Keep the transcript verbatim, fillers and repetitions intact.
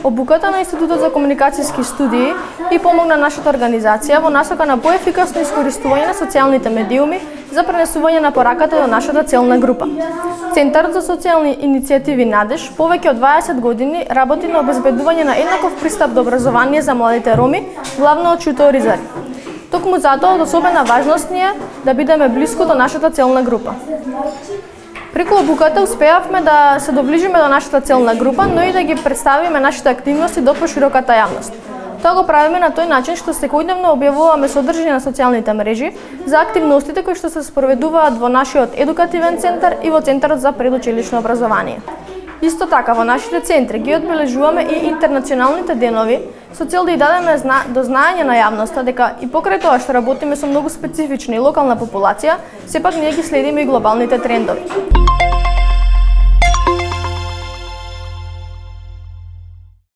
Обуката на Институтот за комуникацијски студии и помогна нашата организација во насока на поефикасно искористување на социјалните медиуми за пренесување на пораката до нашата целна група. Центарот за социјални иницијативи Надеж повеќе од дваесет години работи на обезбедување на еднаков пристап до образование за младите роми, главно од шуторизари. Токму затоа од особена важност ни е да бидеме блиску до нашата целна група. Преку обуката успеавме да се доближиме до нашата целна група, но и да ги представиме нашите активности до пошироката јавност. Тоа го правиме на тој начин што секојдневно објавуваме содржина на социјалните мрежи за активностите кои што се спроведуваат во нашиот едукативен центар и во Центарот за предучилишно образование. Исто така, во нашите центри ги одбележуваме и интернационалните денови со цел да ја дадеме до знаење на јавноста дека и покрај тоа што работиме со многу специфична и локална популација, сепак ние ги следиме и глобалните трендови.